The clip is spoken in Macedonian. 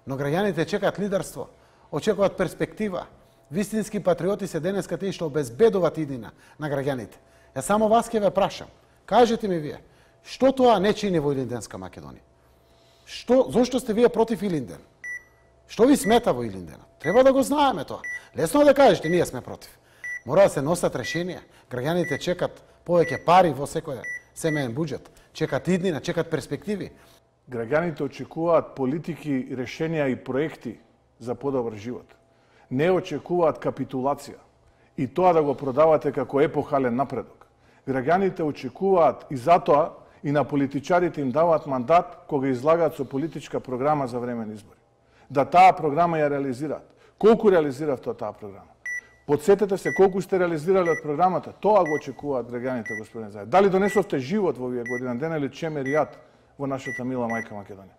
Но граѓаните чекаат лидерство, очекуваат перспектива. Вистински патриоти се денеска тие што обезбедуваат иднина на граѓаните. Ја само вас ќе ве прашам, кажете ми вие, што тоа не чини во Илинденска Македонија? Зошто сте вие против Илинден? Што ви смета во Илинден? Треба да го знаеме тоа. Лесно да кажете, ние сме против. Мора да се носат решенија. Граѓаните чекат повеќе пари во секој семеен буџет. Чекат иднина, чекат перспективи. Граѓаните очекуваат политики, решенија и проекти за подобар живот. Не очекуваат капитулација и тоа да го продавате како епохален напредок. Граѓаните очекуваат и затоа и на политичарите им даваат мандат кога излагаат со политичка програма за време на избори. Да таа програма ја реализираат. Колку реализиравте таа програма? Подсетете се колку сте реализирале од програмата, тоа го очекуваат граѓаните, господин Заев. Дали донесовте живот во овие година дена или чемеријат во нашата мила мајка Македонија?